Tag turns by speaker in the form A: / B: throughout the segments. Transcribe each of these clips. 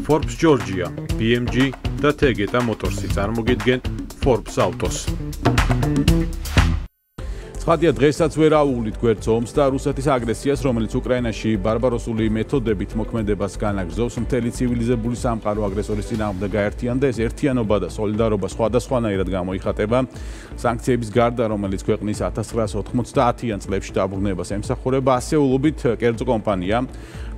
A: Forbes Georgia, BMG და Tegeta Motors-ი წარმოგიდგენ Forbes Autos. Ცხადია, დღესაც ვერ აუვლით გვერდს ომს და რუსეთის აგრესიას, რომელიც უკრაინაში ბარბაროსული მეთოდებით მოქმედებას განაგრძობს, მთელი ცივილიზებული სამყარო აგრესორის წინააღმდეგ გაერთიანდა. ეს ერთიანობა და სოლიდარობა სხვადასხვანაირად გამოიხატება. სანქციების გარდა, რომელიც ქვეყნის 1990-იან წლებში დაბრუნებას ემსახურება, ასეულობით კერძო კომპანია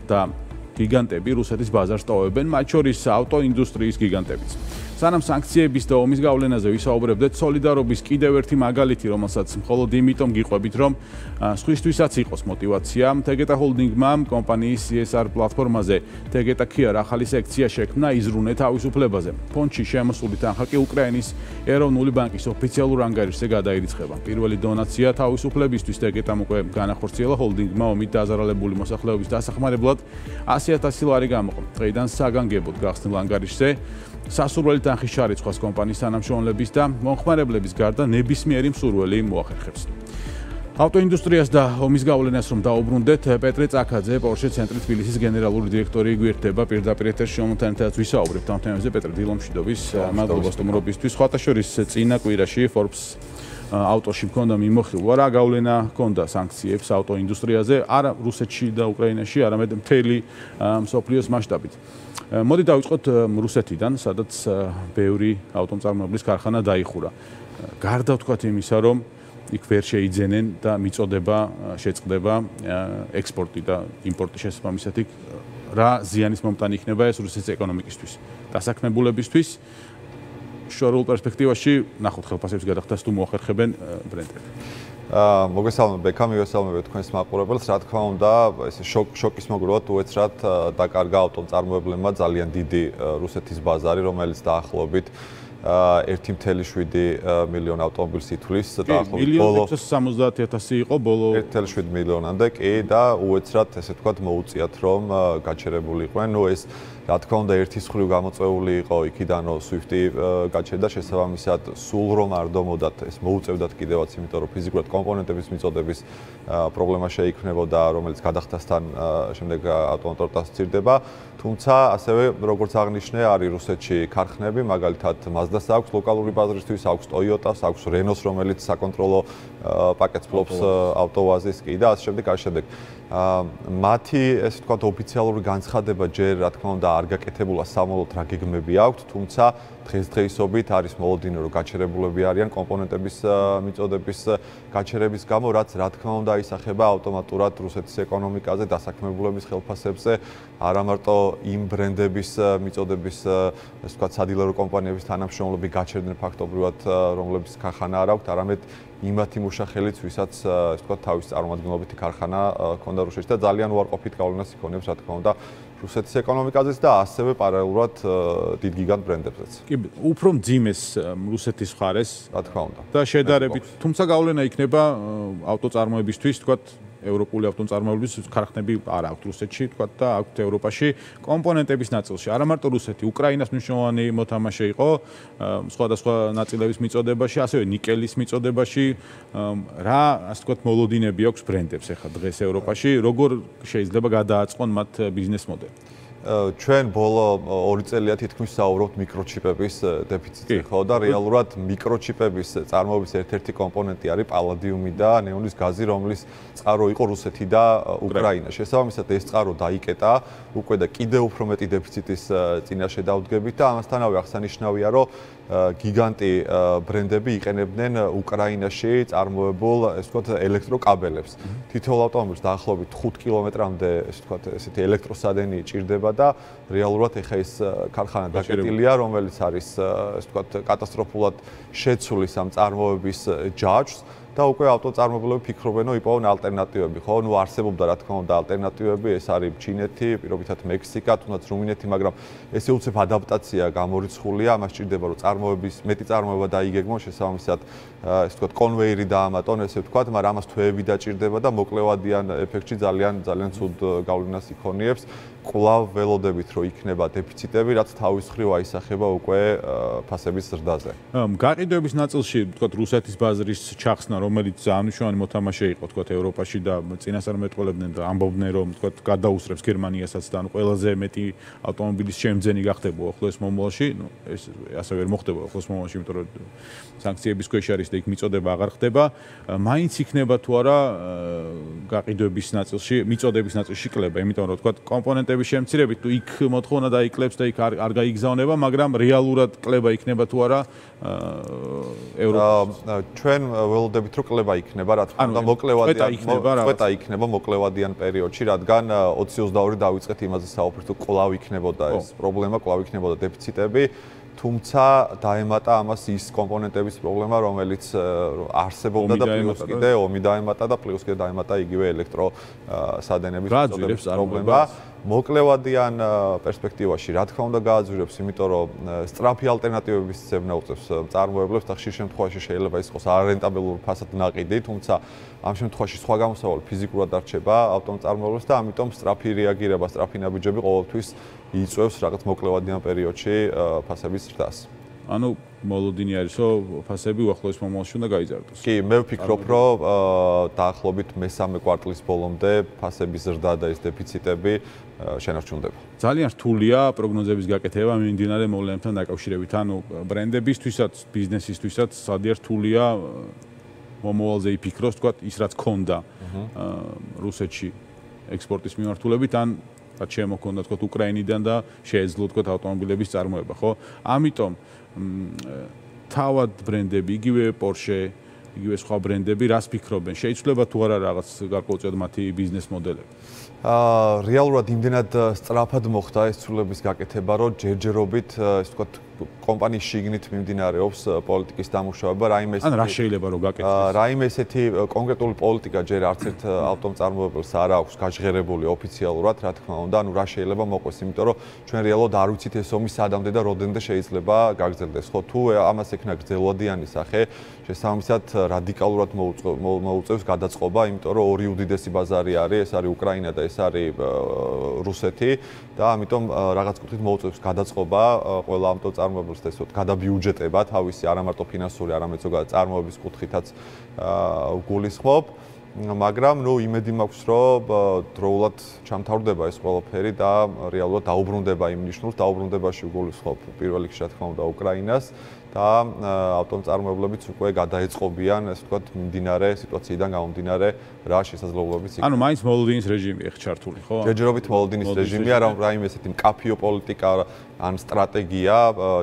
A: და გიგანტები რუსეთის ბაზარს ტოვებენ, მათ შორის ავტოინდუსტრიის გიგანტებიც. სანამ სანქციების და ომის გავლენაზე ვისაუბრებდეთ, სოლიდარობის კიდევ ერთი მაგალითი, რომელსაც მხოლოდ იმიტომ გიყვებით, რომ სხვისთვისაც იყოს მოტივაცია. Tegeta ჰოლდინგმა კომპანიის CSR პლატფორმაზე Tegeta Kia ახალი სექცია შექმნა იზრუნე თავისუფლებაზე. ფონდში შემოსული თანხა კი უკრაინის ეროვნული ბანკის ოფიციალურ ანგარიშზე გადაირიცხება. პირველი დონაცია თავისუფლებისთვის Tegeta-მ უკვე განახორციელა ჰოლდინგმა ომით დაზარალებული მოსახლეობის დასახმარებლად 100,000 ლარი გამოყო. დღეიდან საგანგებოდ გახსნილ ანგარიშზე სასურველი თანხის ჩარიცხვას კომპანიის თანამშრომლების და მომხმარებლების გარდა ნებისმიერი მსურველი მოახერხებს. ავტოინდუსტრიას და ომის გავლენას რომ დაუბრუნდეთ, პეტრე წაქაძე, Porsche ცენტრი თბილისის გენერალური დირექტორი გვერდება პირდაპირ ეთერში მომთანათაც ვისაუბრებთ ამ თემებზე. პეტრე, დილომშვიდობის, მადლობა სტუმრობისთვის. სხვათა შორის წინა კვირაში Forbes Autos-ში მქონდა მიმოხილვა, რა გავლენა ჰქონდა სანქციებს ავტოინდუსტრიაზე, არა რუსეთში და უკრაინაში, არამედ მთელი მსოფლიოს მასშტაბით. მოდი დავიწყოთ რუსეთიდან, სადაც ბევრი ავტომწარმოებლის ქარხანა დაიხურა. გარდა ვთქვათ იმისა, რომ იქ ვერ შეიძენენ და მიწოდება შეწყდება ექსპორტი და იმპორტი შესაბამისად იქ რა ზიანის მომტანი იქნება ეს რუსეთის ეკონომიკისთვის, დასაქმებულებისთვის. შორეულ პერსპექტივაში ნახოთ ხელფასების გადახდას თუ მოახერხებენ ბრენდები.
B: მოგესალმებით ბექა, მივესალმებით თქვენს მაყურებელს. რა თქმა უნდა, ეს შოკის მოგროვად უეცრად დაკარგა ავტომწარმოებლებმა ძალიან დიდი რუსეთის ბაზარი, რომელიც დაახლოებით 1.7 მილიონი ავტომობილს ითვლის.
A: დაახლოებით 1.670.000 იყო ბოლო
B: 1.7 მილიონამდე კი და უეცრად ესე ვთქვათ მოუწიათ რომ გაჩერებული იყვნენ. ნუ ეს რა თქმა უნდა ერთის მხრივ გამოწვეული იყო იქიდან რომ Swift-ი გაჩერდა შესაბამისად სულ რომ არ დომოდათ ეს მოუწევდათ კიდევაც იმიტომ რომ ფიზიკურად კომპონენტების მიწოდების პრობლემა შეიქმნებოდა რომელიც გადახდასთან შემდეგ ავტომოტორტას სცირდება თუმცა ასევე როგორც აღნიშნე არის რუსეთში ქარხნები მაგალითად Mazda-ს აქვს ლოკალური ბაზრისთვის აქვს Toyota-ს აქვს Renault-ს რომელიც საკონტროლო პაკეტს ფლობს ავტოვაზის კი და ასე შემდეგ მათი ესე ვთქვათ ოფიციალური განცხადება ჯერ რა თქმა უნდა არ გაკეთებულა სამოლოდ რა გეგმები აქვთ, თუმცა დღესდღეობით არის მოლოდინო რომ გაჩერებულები არიან კომპონენტების მიწოდების გაჩერების გამო, რაც რა თქმა უნდა ისახება ავტომატურად რუსეთის ეკონომიკაზე, დასაქმებულების ხელფასებზე, არა მარტო იმ ბრენდების მიწოდების ესე ვთქვათ სადილერო კომპანიების თანამშრომლები გაჩერდნენ ფაქტობრივად, რომლებიც ქარხანა არ აქვთ, არამედ იმათი მუშახელიც, ვისაც ესე ვთქვათ თავის წარმომადგენლობითი ქარხანა ჰქონდა რუსეთში და ძალიან უარყოფით გავლენას იქონიებს, რა თქმა უნდა, რუსეთის ეკონომიკაზეც და ასევე პარალელურად დიდ გიგანტ ბრენდებზეც.
A: კი, უფრო მძიმეს რუსეთის მხარეს,
B: რა თქმა უნდა.
A: და შედარებით, თუმცა გავლენა იქნება ავტოწარმოებისთვის, თქვათ, ევროპული ავტომწარმოებლის ქარხნები არ აქვთ რუსეთში, თქვათ და აქვთ ევროპაში კომპონენტების ნაწილში. არა მარტო რუსეთი, უკრაინას მნიშვნელოვანი მოთამაშე იყო სხვადასხვა ნაწილების მიწოდებაში, ასევე ნიკელის მიწოდებაში. რა, ასე ვთქვათ, მოლოდინები აქვს ბრენდებს ახლა დღეს ევროპაში, როგორ შეიძლება გადააწყონ მათ ბიზნეს მოდელი?
B: ჩვენ ბოლო 2 წელია თითქმის საუბრობთ მიკროჩიპების დეფიციტზე, ხო და რეალურად მიკროჩიპების წარმოების ერთ-ერთი კომპონენტი არის პალადიუმი და ნეონის გაზი, რომლის წყარო იყო რუსეთი და უკრაინა. შესაბამისად ეს წყარო დაიკეტა უკვე და კიდევ უფრო მეტი დეფიციტის წინაშე დავდგებით და ამასთანავე აღსანიშნავია, რომ გიგანტი ბრენდები იყენებდნენ უკრაინაში წარმოებულ, ესე ვთქვათ, ელექტროკაბელებს. თითოეულ ავტომობილს დაახლოებით 5 კილომეტრამდე, ესე ვთქვათ, ესეთი ელექტროსადენი ჭირდება და რეალურად ეხა ეს ქარხანა დაკეტილია, რომელიც არის, ესე ვთქვათ, კატასტროფულად შეცვლის ამ წარმოების ჯაჭვს. და უკვე ავტოწარმოებლები ფიქრობენ, რომ იპოვონ ალტერნატივები, ხო? ნუ არსებობდა რა თქმა უნდა ალტერნატივები, ეს არის ჩინეთი, პირობითად მექსიკა, თუნდაც რუმინეთი, მაგრამ ესე უცებ ადაპტაცია გამორიცხულია, ამას ჭირდება რომ წარმოების მეტი წარმოება დაიგეგმონ, შესაბამისად, ესე ვთქვათ, კონვეირი დაამატონ, ესე ვთქვათ, მაგრამ ამას თვეები დაჭირდება და მოკლევადიან ეფექტში ძალიან ცუდ გავლენას იქონიებს. კვლავ ველოდებით რომ იქნება დეფიციტები, რაც თავის მხრივ აისახება უკვე ფასების ზრდაზე.
A: გაყიდვების ნაწილში, ვთქვათ, რუსეთის ბაზრის ჩახსნა, რომელიც ძალიან მნიშვნელოვანი მოთამაშე იყო, ვთქვათ, ევროპაში და წინასწარ მეტყველებდნენ და ამბობდნენ, რომ ვთქვათ, გადაუსწრებს გერმანიასაც და ყველაზე მეტი ავტომობილის შემძენი გახდება ახლოს მომავალში, ეს ასე ვერ მოხდება ახლოს მომავალში, იმიტომ რომ სანქციების ქვეშ არის და იქ მიწოდება აღარ ხდება. მაინც იქნება თუ არა გაყიდვების ნაწილში, მიწოდების ნაწილში კლება, იმიტომ რომ ვთქვათ, კომპონენტების შემცირებით თუ იქ მოთხოვნა დაიკლებს და იქ არ გაიგზავნება, მაგრამ რეალურად კლება იქნება თუ არა
B: ჩვენ ველოდებით რომ კლება იქნება, რა თქმა უნდა, მოკლევადიან იქნება მოკლევადიან პერიოდში, რადგან 2022 დავიწყეთ იმაზე საუბრით, რომ კვლავ იქნებოდა ეს პრობლემა, კვლავ იქნებოდა დეფიციტები. თუმცა დაემატა ამას ის კომპონენტების პრობლემა, რომელიც არსებობდა და პლუს კიდე ომი დაემატა და პლუს კიდე დაემატა იგივე ელექტროსადენების პრობლემა. მოკლევადიან პერსპექტივაში რა თქმა უნდა გააძვირებს, იმიტომ რომ სწრაფი ალტერნატივების ძებნა უწევს მწარმოებლებს და ხშირ შემთხვევაში შეიძლება ის იყოს არარენტაბელური ფასად ნაყიდი, თუმცა ამ შემთხვევაში სხვა გამოსავალი ფიზიკურად არჩება ავტომწარმოებლებს და ამიტომ სწრაფი რეაგირება, სწრაფი ნაბიჯები ყოველთვის იწვევს რაღაც მოკლევადიან პერიოდში ფასების ზრდას.
A: ანუ მოლოდინი არის, რომ ფასები უახლოეს მომავალში უნდა გაიზარდოს.
B: კი, მე ვფიქრობ, რომ დაახლოებით მესამე კვარტლის ბოლომდე ფასების ზრდა და ეს დეფიციტები შენარჩუნდება.
A: ძალიან რთულია პროგნოზების გაკეთება მიმდინარე მოვლენებთან დაკავშირებით. ანუ ბრენდებისთვისაც, ბიზნესისთვისაც სადიერ რთულია მომავალზე იფიქროს, თქვათ, ის რაც ქონდა რუსეთში ექსპორტის მიმართულებით, ან რაც შემოქონდა, თქვათ, უკრაინიდან და შეეძლო, თქვათ, ავტომობილების წარმოება, ხო? ამიტომ თავად ბრენდები, იგივე Porsche, იგივე სხვა ბრენდები, რას ფიქრობენ? შეიცვლება თუ არა რაღაც გარკვეულწილად მათი ბიზნეს მოდელები?
B: რეალურად იმდენად სწრაფად მოხდა ეს ცვლილების გაკეთება, რომ ჯერჯერობით, ასე ვთქვათ, კომპანიის შიგნით მიმდინარეობს პოლიტიკის დამუშავება, რაიმე
A: ან რა შეიძლება რომ გაკეთდეს?
B: რაიმე ესეთი კონკრეტული პოლიტიკა ჯერ არც ერთ ავტომწარმოებელს არ აქვს გაჟღერებული ოფიციალურად, რა თქმა უნდა, ანუ რა შეიძლება მოყვეს, იმიტომ რომ ჩვენ რეალურად არ ვიცით ეს ომი სადამდე და რამდენამდე შეიძლება გაგრძელდეს. ხო, თუ ამას ექნა გრძელვადიანი სახე, შესაბამისად რადიკალურად მოუწევს გადაწყობა, იმიტომ რომ ორი უდიდესი ბაზარი არის, ეს არის უკრაინა და ეს არის რუსეთი და ამიტომ რაღაც კუთხით მოუწევს გადაწყობა ყველა ავტომწარმოებელს და ესოთ გადაბიუჯეტება თავისი არა მარტო ფინანსური, არამედ ზოგადად წარმოების კუთხითაც გულისხმობ. მაგრამ ნუ იმედი მაქვს, რომ დროულად ჩამთავრდება ეს ყველაფერი და რეალურად დაუბრუნდება იმ ნიშნულს, დაუბრუნდებაში გულისხმობ პირველ რიგში რა თქმა უნდა უკრაინას და ავტომწარმოებლებიც უკვე გადაეწყობიან, ასე ვთქვათ, მიმდინარე სიტუაციიდან გამომდინარე რა შესაძლებლობებიც იქნება.
A: ანუ მაინც მოლოდინის რეჟიმი ეხ ჩართული, ხო?
B: ჯერჯერობით მოლოდინის რეჟიმია, რაიმე ესეთი მკაფიო პოლიტიკა ან სტრატეგია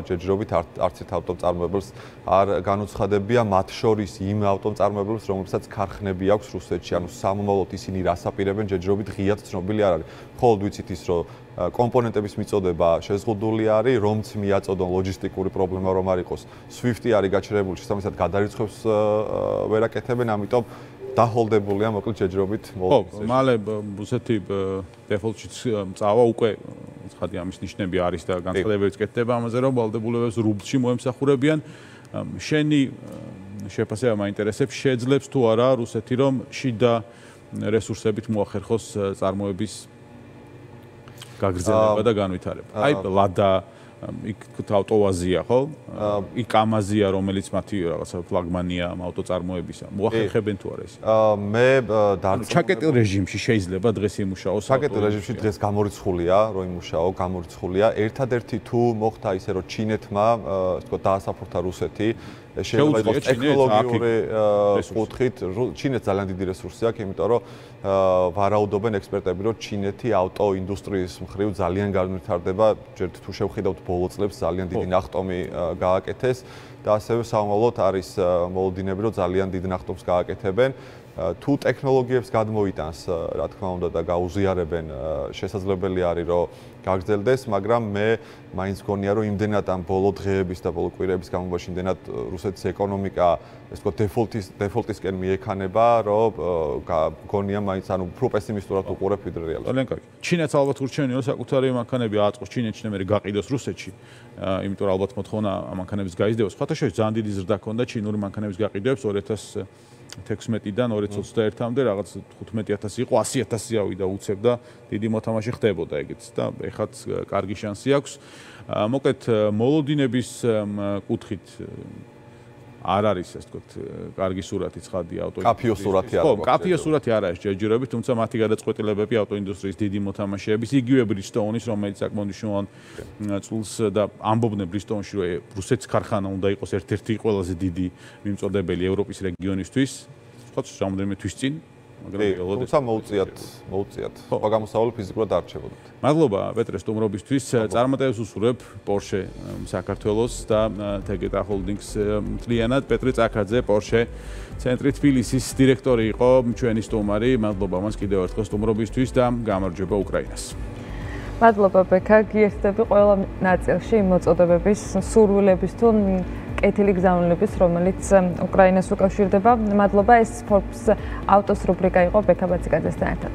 B: ჯერჯერობით არც ერთ ავტომწარმოებელს არ განუცხადებია, მათ შორის იმ ავტომწარმოებელს, რომლებსაც ქარხნები აქვს რუსეთში, ანუ სამომავლოდ ისინი რას აპირებენ, ჯერჯერობით ღიად ცნობილი არ არის. მხოლოდ ვიცით ის, რომ კომპონენტების მიწოდება შეზღუდული არის, რომც მიაწოდონ ლოჯისტიკური პრობლემა რომ არ იყოს. SWIFT-ი არის გაჩერებული, შესაბამისად გადარიცხვებს ვერ აკეთებენ, ამიტომ დაჰოლდებულია მოკლედ ჯერჯერობით
A: მოლოდინის. ხო, მალე რუსეთი დეფოლტშიც წავა უკვე ცხადი ამის ნიშნები არის და განცხადებებიც კეთდება ამაზე, რომ ვალდებულებებს რუბლში მოემსახურებიან. შენი შეფასება მაინტერესებს, შეძლებს თუ არა რუსეთი რომ შიდა რესურსებით მოახერხოს წარმოების გაგრძელება და განვითარება. აი ლადა იქ ავტოვაზია, ხო? იქ ამაზია, რომელიც მათი რაღაცა ფლაგმანია ავტოწარმოებისა. მოახერხებენ თუ არა ეს?
B: მე
A: ჩაკეტილ რეჟიმში შეიძლება დღეს იმუშაოს.
B: ჩაკეტილ რეჟიმში დღეს გამორიცხულია, რომ იმუშაო, გამორიცხულია. ერთადერთი თუ მოხდა ისე, რომ ჩინეთმა, ასე ვთქვათ, დაასაფორთა რუსეთი, შეიძლება იყოს ტექნოლოგიური კუთხით, ჩინეთს ძალიან დიდი რესურსი აქვს, იმიტომ რომ ვარაუდობენ ექსპერტები, რომ ჩინეთი ავტოინდუსტრიის მხრივ ძალიან განვითარდება, ჯერ თუ შევხედავთ ბოლო წლებს ძალიან დიდი ნახტომი გააკეთეს და ასევე სამომავლოდ არის მოლოდინები, რომ ძალიან დიდ ნახტომს გააკეთებენ. თუ ტექნოლოგიებს გადმოიტანს, რა თქმა უნდა და გაუზიარებენ, შესაძლებელი არის, რომ გაგრძელდეს, მაგრამ მე მაინც გონია, რომ იმდენად ამ ბოლო დღეების და ბოლო კვირების განმავლობაში იმდენად რუსეთის ეკონომიკა, ასე ვთქვათ, დეფოლტისკენ მიექანება, რომ გონია მაინც ანუ უფრო პესიმისტურად უყურებ ვიდრე რეალურად.
A: ძალიან კარგი. ჩინეთს ალბათ ურჩევნია, რომ საკუთარი მანქანები აწყოს ჩინეთში, მე გაყიდოს რუსეთში. იმიტომ რომ ალბათ მოთხოვნა ამ მანქანების გაიზრდებას. სხვათა შორის ძალიან დიდი ზრდა ჰქონდა ჩინური მანქანების გაყიდვებს 16-დან 2021-მდე რაღაც 15,000 იყო, 100,000 ავიდა უცებ და დიდი მოთამაშე ხდებოდა ეგეც და ეხაც კარგი შანსი აქვს. მოკლედ მოლოდინების კუთხით არ არის ასე ვთქვათ, კარგი სურათი ცხადია
B: ავტოინდუსტრიის. კაფიო სურათი არ აქვს.
A: კაფიო სურათი არ არის ჯერჯერობით, თუმცა მათი გადაწყვეტილებები ავტოინდუსტრიის დიდი მოთამაშეების, იგივე Bridgestone-ის, რომელიც საკმაოდ მნიშვნელოვან წულს და ამბობდნენ Bridgestone-ში, რომ რუსეთის ქარხანა უნდა იყოს ერთ-ერთი ყველაზე დიდი მიმწოდებელი ევროპის რეგიონისთვის, ვთქვათ, რამდენიმე თვის წინ.
B: თუმცა მოუწიათ. სხვა გამოსავალი ფიზიკურად არ რჩებოდათ.
A: მადლობა პეტრე სტუმრობისთვის. წარმატებებს უსურვებ Porsche საქართველოს და Tegeta Holdings მთლიანად. პეტრე წაქაძე Porsche ცენტრი თბილისის დირექტორი იყო ჩვენი სტუმარი. მადლობა მას კიდევ ერთხელ სტუმრობისთვის და გამარჯვება უკრაინას.
C: მადლობა ბექა, გიერთდები ყველა ნაწილში მოწოდებების, სურვილების თუ კეთილი გზავნილების, რომელიც უკრაინას უკავშირდება. მადლობა, ეს Forbes Autos რუბრიკა იყო ბექა ბაციკაძესთან ერთად.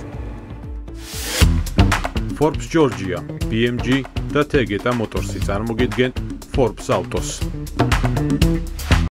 A: Forbes Georgia, BMG და Tegeta Motors-ი წარმოგიდგენ Forbes Autos.